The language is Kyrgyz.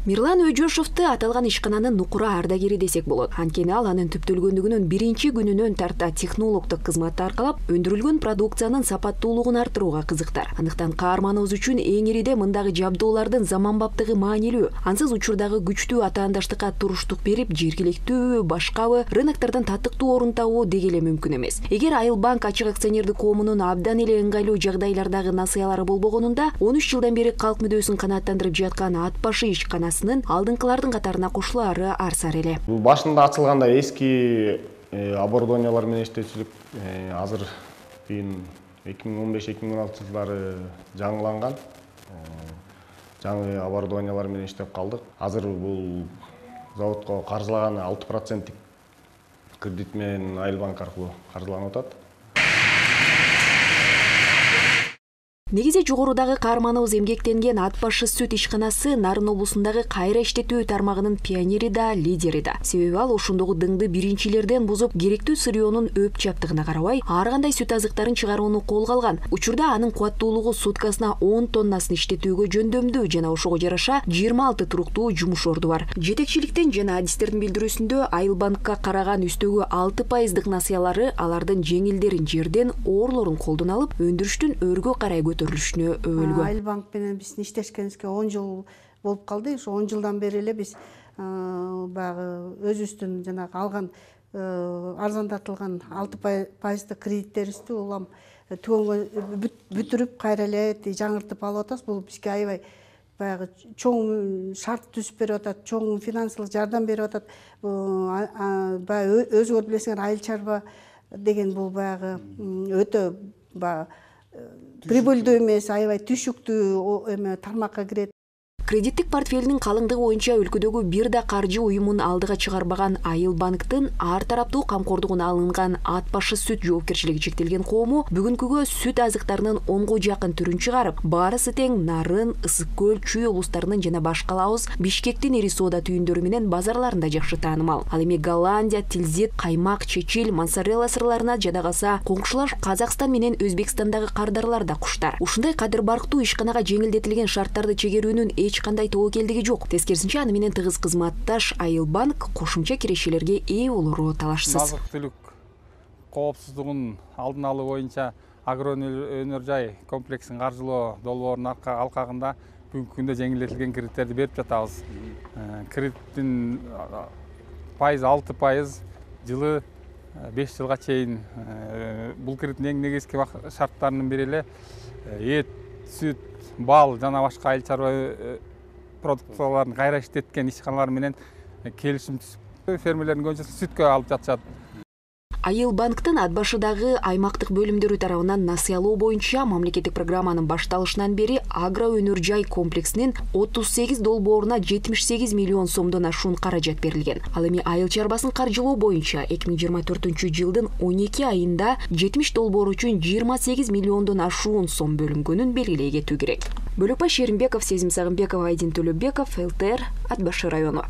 Мирлан Өжөшовду аталган ишкананын нукура ардагери десек болот. Анткени ал анын түптөлгөндүгүнүн биринчи күнүнөн тарта технологдук кызматты аркалап, өндүрүлгөн продукциянын сапаттуулугун арттырууга кызыктар. Андыктан каарманыбыз үчүн эң ириде мындагы жабдуулардын заманбаптыгы маанилүү. Ансыз учурдагы күчтүү атаандаштыкка туруштук берип, жергиликтүүбү, башкабы рыноктордон татыктуу орун табуу деги эле мүмкүн эмес. Эгер Айыл банк ачык акционердик коомунун абдан эле ыңгайлуу жагдайлардагы насыялары болбогонунда, 13 жылдан бери калк мүдөөсүн канааттандырып жаткан ат башы ишканасынын алдыңкылардын катарына кошулаары арсар эле. Бул башында ачылганда эски оборудованиялар менен иштечүлүк, азыр 2015-2016 жылдары жаңыланган жаңы оборудованиялар менен иштеп калдык. Азыр бул заводко каржылаган 6% кредит менен Айыл банк аркылуу каржыланып атат. Негизи жогорудагы каарманыбыз эмгектенген ат башы сүт ишканасы Нарын облусундагы кайра иштетүү тармагынын пионери да, лидери да. Себеби ал ошондогу дыңды биринчилерден бузуп, керектүү сырьёнун өп чаптыгына карабай, ар кандай сүт азыктарын чыгарууну колго алган. Учурда анын кубаттуулугу суткасына 10 тоннасын иштетүүгө жөндөмдүү жана ошого жараша 26 туруктуу жумуш орду бар. Жетекчиликтен жана адистердин билдирүүсүндө Айыл банкка караган үстөгү 6% насыялары алардын жеңилдерин жерден, оорлорун колдон алып, өндүрүштүн өргө карай көтөрүлүшүнө өбөлгөн. Айыл банк менен биздин иштешкенибизге 10 жыл болуп калды. Ошо 10 жылдан бери эле биз баягы өзүбүздүн жанагы алган арзандатылган 6% кредиттерибизди улам түгөнгө бүтүрүп кайра эле жаңыртып алып атабыз. Бул бизге аябай баягы чоң шарт түзүп берип атат, чоң финансылык жардам берип атат. Баягы өзүңөр билесиңер, айыл чарба деген бул баягы өтө прибыльдүү эмес, аябай түшүктүү тармакка кирет. Кредиттик портфелинин калыңдыгы боюнча өлкөдөгү бир да каржы уюмун алдыга чыгарбаган Айыл банктын ар тараптуу камкордугуна алынган ат башы сүт жоопкерчилиги чектелген коому бүгүнкүгө сүт азыктарынын 10го жакын түрүн чыгарып, баарысы тең Нарын, Ысык көл, Чүй облустарынын жана башкалабыз Бишкектин ири соода түйүндөрү менен базарларында жакшы таанымал. Ал эми Голландия, Тилзит, каймак, чечил, моцарелла сырларына жада калса, коңшулаш Казакстан менен Өзбекстандагы кардарлар да куштар. Ушундай кадыр барктуу ишканага жеңилдетилген шарттарды чегерүүнүн кандай тобокелдиги жок. Тескерисинче, аны менен тыгыз кызматташ Айыл банк кошумча кирешелерге ээ болору талашсыз. Азык-түлүк коопсуздугунун алдын алуу боюнча агроөнөр жай комплексин каржылоо долбоорунун алкагында бүгүнкү күндө жеңилдетилген кредиттерди берип жатабыз. Кредиттин пайызы 6%, жылы 5 жылга чейин. Бул кредиттин эң негизги шарттарынын бири эле эт, сүт, бал жана башка айыл чарба продукцияларын кайра иштеткен ишканалар менен келишим түзүп, фермерлердин көбүнчөсү сүткө алып жатышат. Айыл банктын ат башыдагы аймактык бөлүмдөрү тарабынан насыялоо боюнча мамлекеттик программанын башталышынан бери агроөнөр жай комплексинин 38 долбооруна 78 миллион сомдон ашуун каражат берилген. Ал эми айыл чарбасын каржылоо боюнча 2024-жылдын 12 айында 70 долбоор үчүн 28 миллиондон ашуун сом бөлүнгөнүн белгилей кетүү керек. Бөлөкбай Шеримбеков, Сезим Сагынбеков, Айдин Төлөбеков, ЛТР, Ат башы району.